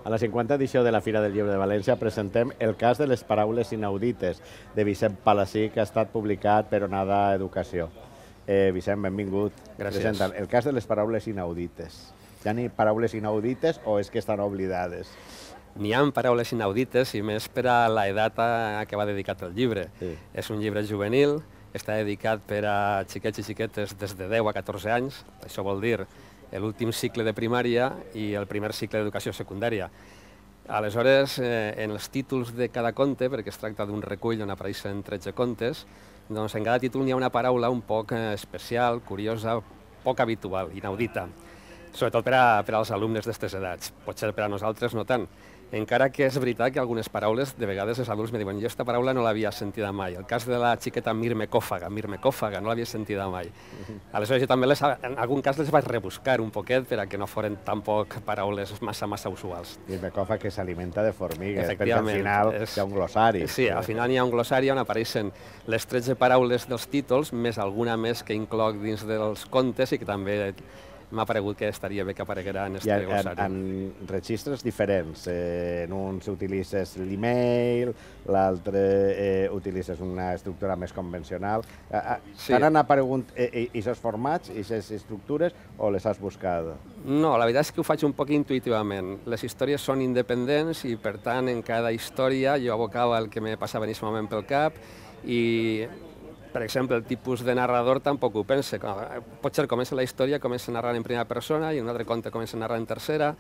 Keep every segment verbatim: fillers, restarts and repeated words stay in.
A la cinquanta edició de la Fira del Llibre de València presentem El cas de les paraules inaudites, de Vicent Palací, que ha estat publicat per Onada Educació. Eh, Vicent, benvingut. Gràcies. Presenten El cas de les paraules inaudites. Hi ha ni paraules inaudites o és que estan oblidades? N'hi ha paraules inaudites i més per a l'edat a què va dedicat el llibre. Sí. És un llibre juvenil, està dedicat per a xiquets i xiquetes des de deu a catorze anys, això vol dir l'últim cicle de primària i el primer cicle d'educació secundària. Aleshores, eh, en els títols de cada conte, perquè es tracta d'un recull on apareixen tretze contes, doncs en cada títol n'hi ha una paraula un poc eh, especial, curiosa, poc habitual, inaudita, sobretot per, a, per als alumnes d'aquestes edats. Potser per a nosaltres no tant. Encara que és veritat que algunes paraules, de vegades els adults me diuen jo aquesta paraula no l'havia sentida mai. El cas de la xiqueta mirmecòfaga, mirmecòfaga, no l'havia sentida mai. Aleshores jo també les, en algun cas les vaig rebuscar un poquet per a que no foren tampoc paraules massa, massa usuals. Mirmecòfaga que s'alimenta de formigues, perquè al final és, hi ha un glossari. Sí, al final hi ha un glossari on apareixen les tretze paraules dels títols, més alguna més que incloc dins dels contes i que també m'ha paregut que estaria bé que apareguera en aquest glossari. En, en registres diferents. Eh, en un utilitzes l'email, l'altre eh, utilitzes una estructura més convencional. Eh, sí. T'han aparegut aquests formats, aquestes estructures, o les has buscat? No, la veritat és que ho faig un poc intuïtivament. Les històries són independents i, per tant, en cada història jo abocava el que me passava en aquest moment pel cap i, per exemple, el tipus de narrador tampoc ho pense. Potser comença la història, comença a narrar en primera persona i en un altre conte comença a narrar en tercera.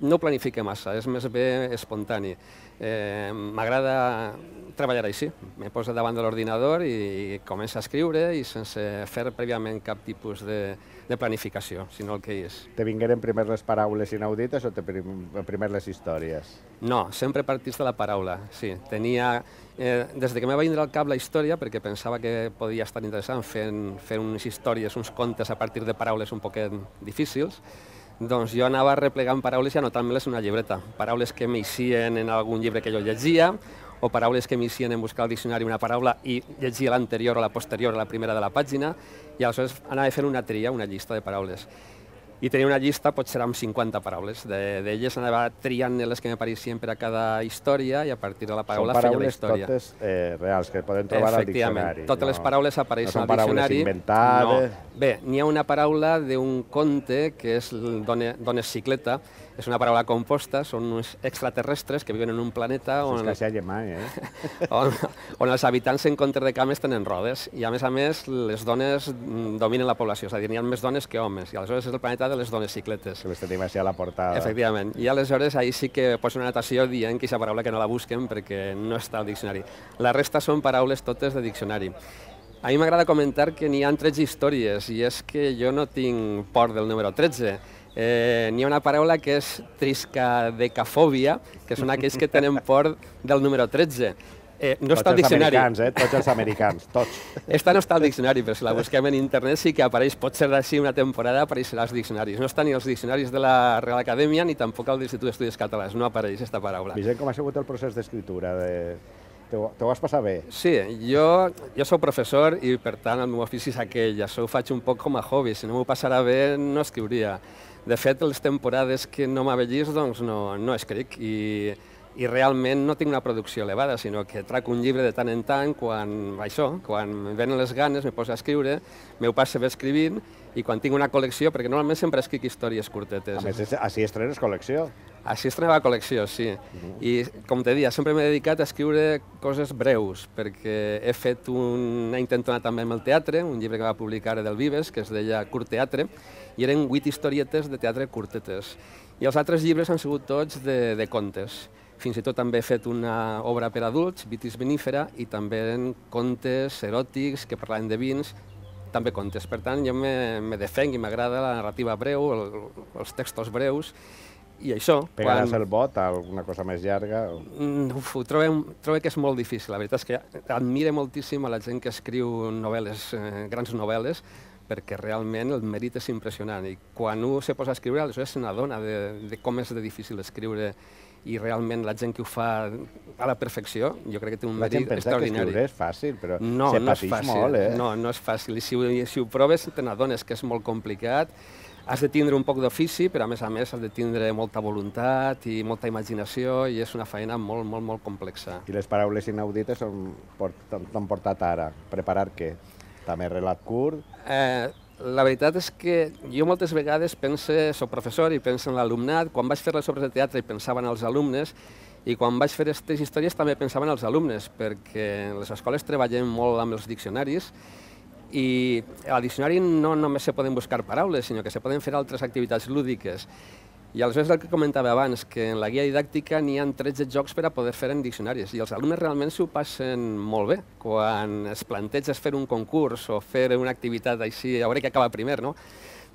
No ho planifique massa, és més bé espontani. Eh, M'agrada treballar així. Me poso davant de l'ordinador i començo a escriure i sense fer prèviament cap tipus de, de planificació, sinó el que és. Te vingueren primer les paraules inaudites o te primer les històries? No, sempre partís de la paraula, sí. Tenia, eh, des de que me va vindre al cap la història, perquè pensava que podia estar interessant fent, fent unes històries, uns contes a partir de paraules un poquet difícils, doncs jo anava replegant paraules i anotant-me-les en una llibreta. Paraules que m'eixien en algun llibre que jo llegia, o paraules que m'eixien en buscar al diccionari una paraula i llegia l'anterior o la posterior a la primera de la pàgina, i aleshores anava fent una tria, una llista de paraules. I tenia una llista, potser amb cinquanta paraules. D'elles anava triant les que m'apareixien per a cada història i a partir de la paraula feia la història. Són paraules totes eh, reals, que poden trobar al diccionari. Totes les paraules apareixen al diccionari. No són paraules inventades. Bé, n'hi ha una paraula d'un conte que és Dones Cicleta. És una paraula composta, són uns extraterrestres que viuen en un planeta on, és que mai, eh? on, on els habitants en comptes de cames tenen rodes i a més a més les dones dominen la població, és a dir, n'hi ha més dones que homes i aleshores és el planeta de les dones cicletes. Que les tenim així a la portada. Efectivament, i aleshores ahir sí que poso una anotació dient que aquesta paraula que no la busquen perquè no està al diccionari. La resta són paraules totes de diccionari. A mi m'agrada comentar que n'hi ha tretze històries i és que jo no tinc por del número tretze. Eh, n'hi ha una paraula que és triscadecafòbia, que són aquells que tenen por del número tretze. Eh, no tots està al diccionari. Els americans, eh? Tots els americans, tots. Esta no està al diccionari, però si la busquem en internet sí que apareix, pot ser d'ací una temporada, apareixerà als diccionaris. No està ni als diccionaris de la Real Acadèmia ni tampoc al l'Institut d'Estudis Catalans, no apareix aquesta paraula. Vicent, com ha sigut el procés d'escriptura? De... Te ho vas passar bé? Sí, jo, jo soc professor i per tant el meu ofici és aquell, això ho faig un poc com a hobby, si no m'ho passara bé no escriuria. De fet, les temporades que no m'avellis doncs no, no escric i, i realment no tinc una producció elevada, sinó que trac un llibre de tant en tant quan, això, quan em venen les ganes, me poso a escriure, m'ho passo bé escrivint i quan tinc una col·lecció, perquè normalment sempre escric històries curtetes. A més, així estrenes col·lecció. Així estrenava col·lecció, sí. Uh-huh. I, com te deia, sempre m'he dedicat a escriure coses breus, perquè he fet una intentona també amb el teatre, un llibre que va publicar del Vives, que es deia Curt Teatre, i eren vuit historietes de teatre curtetes. I els altres llibres han sigut tots de, de contes. Fins i tot també he fet una obra per adults, Vitis Vinífera, i també eren contes eròtics que parlaven de vins, també contes. Per tant, jo me, me defenc i m'agrada la narrativa breu, el, els textos breus, i això... Pegaràs quan... el bot a alguna cosa més llarga? Uf, ho trobo, trobo que és molt difícil. La veritat és que admiro moltíssim a la gent que escriu novel·les, eh, grans novel·les, perquè realment el mèrit és impressionant. I quan un se posa a escriure, aleshores se n'adona de, de com és de difícil escriure i realment la gent que ho fa a la perfecció, jo crec que té un mèrit extraordinari. La gent pensa que escriure és fàcil, però no, se no és pateix fàcil. molt, eh? No, no és fàcil. I si ho, si ho proves, te n'adones que és molt complicat. has de tindre un poc d'ofici, però a més a més has de tindre molta voluntat i molta imaginació i és una feina molt, molt, molt complexa. I les paraules inaudites t'han portat ara? Preparar què? També relat curt? Eh, la veritat és que jo moltes vegades penso, soc professor i penso en l'alumnat, quan vaig fer les obres de teatre i pensava en els alumnes, i quan vaig fer aquestes històries també pensava en els alumnes, perquè en les escoles treballem molt amb els diccionaris i al diccionari no només se poden buscar paraules, sinó que se poden fer altres activitats lúdiques. I aleshores el que comentava abans, que en la guia didàctica n'hi ha tretze jocs per a poder fer en diccionaris i els alumnes realment s'ho passen molt bé. Quan es planteges fer un concurs o fer una activitat així, a veure què acaba primer, no?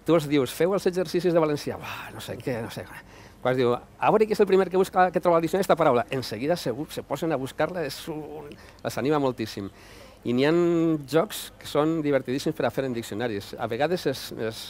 Tu els dius, feu els exercicis de valencià, no sé què, no sé què. Quan es diu, a veure qui és el primer que, busca, que troba al diccionari aquesta paraula, en seguida se, se posen a buscar-la, un... les anima moltíssim. I n'hi ha jocs que són divertidíssims per a fer en diccionaris. A vegades es, es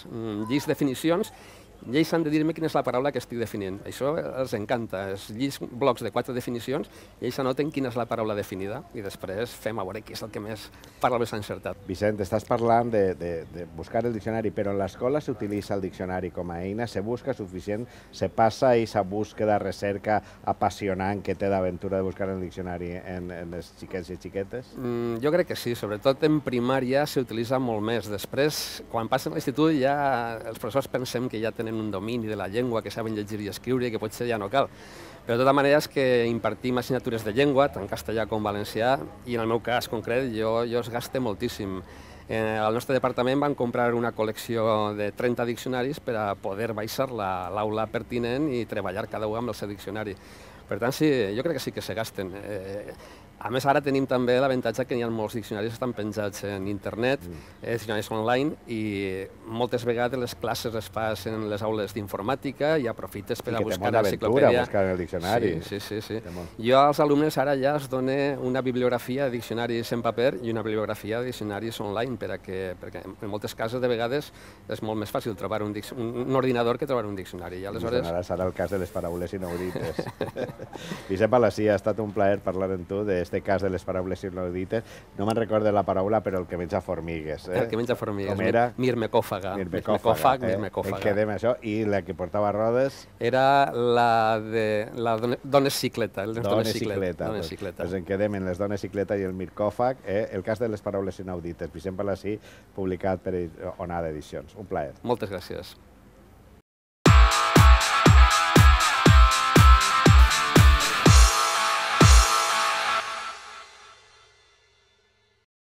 llis definicions i ells han de dir-me quina és la paraula que estic definint. Això els encanta. Es llis blocs de quatre definicions i ells anoten quina és la paraula definida i després fem a veure qui és el que més parla més encertat. Vicent, estàs parlant de, de, de buscar el diccionari, però en l'escola s'utilitza el diccionari com a eina, se busca suficient, se passa aquesta búsqueda, recerca apassionant que té d'aventura de buscar el diccionari en, en els xiquets i xiquetes? Mm, jo crec que sí, sobretot en primària s'utilitza molt més. Després, quan passen a l'institut, ja els professors pensem que ja tenen un domini de la llengua, que saben llegir i escriure i que potser ja no cal. Però de tota manera és que impartim assignatures de llengua, tant castellà com valencià, i en el meu cas concret jo, jo es gaste moltíssim. Eh, al nostre departament van comprar una col·lecció de trenta diccionaris per a poder baixar l'aula pertinent i treballar cada un amb el seu diccionari. Per tant, sí, jo crec que sí que se gasten. Eh, A més, ara tenim també l'avantatge que hi ha molts diccionaris que estan penjats en internet, mm. eh, diccionaris online, i moltes vegades les classes les fas en les aules d'informàtica i aprofites per I a buscar l'enciclopèdia. buscar en el diccionari. Sí, sí, sí. sí. Jo als alumnes ara ja els dono una bibliografia de diccionaris en paper i una bibliografia de diccionaris online, per a que, perquè en moltes cases de vegades és molt més fàcil trobar un, un, un ordinador que trobar un diccionari. I aleshores... Ara serà el cas de les paraules inaudites. Vicent Palasí, ha estat un plaer parlar amb tu de este cas de les paraules inaudites. No me'n recordo la paraula, però el que menja formigues. Eh? El que menja formigues. Com era? Mirmecòfaga. Mirmecòfag, eh? En quedem això. I la que portava rodes? Era la de la dones cicleta. Dones cicleta. Dones cicleta. Doncs en quedem en les dones cicleta i el mircòfag. Eh? El cas de les paraules inaudites. Vicent Palasí, publicat per Onada Edicions. Un plaer. Moltes gràcies.